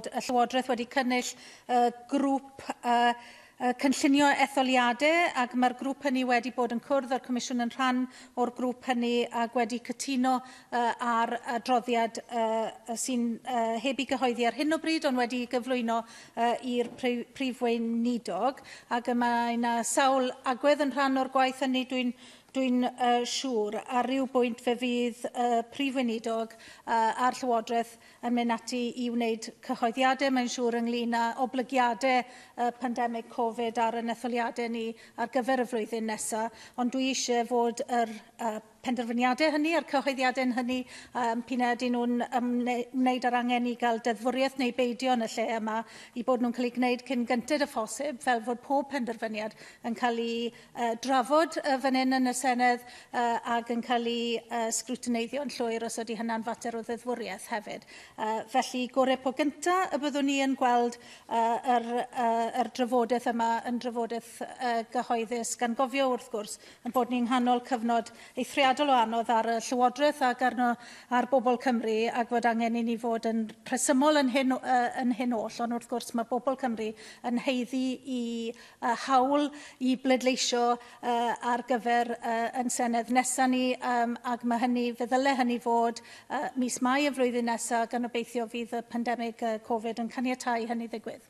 fod y Llywodraeth wedi cynnull grŵp cynllunio etholiadau, ac mae'r grŵp hynny wedi bod yn cwrdd â'r Comisiwn yn rhan o'r grŵp hynny ac wedi cytuno ar adroddiad sy'n heb ei gyhoeddi ar hyn o bryd, ond wedi gyflwyno i'r Prif Weinidog, ac mae yna sawl agwedd yn rhan o'r gwaith hynny, dwi'n siŵr. Ar ryw bwynt fe fydd y Prif Weinidog a'r Llywodraeth yn mynd ati i wneud cyhoeddiadau, mae'n siŵr, ynglyn â oblygiadau pandemig Covid ar yn etholiadau ni ar gyfer y flwyddyn nesaf. Ond dwi eisiau fod yr penderfyniadau hynny a'r cyhoeddiadau hynny, p'un a ydyn nhw'n ymwneud â'r angen i gael deddfwriaeth neu beidio yn y lle yma, i bod nhw'n cael eu gwneud cyn gynted â phosib, fel fod pob penderfyniad yn cael ei drafod fan hyn yn y Senedd ac yn cael ei sgrwtineiddio'n llwyr os ydy hynna'n fater o ddeddfwriaeth hefyd. Felly, gorau po gyntaf y byddwn ni yn gweld yr drafodaeth yma yn drafodaeth gyhoeddus, gan gofio wrth gwrs yn bod ni'n nghanol cyfnod eithriadol o anodd ar y Llywodraeth ac ar bobl Cymru, ac fod angen i ni fod yn rhesymol yn hyn oll, ond wrth gwrs mae bobl Cymru yn haeddu i hawl i bleidleisio ar gyfer yn Senedd nesaf ni, ac mae hynny, fe ddyle hynny fod mis Mai y flwyddyn nesaf, gan obeithio fydd y pandemig Covid yn caniatáu hynny ddigwydd.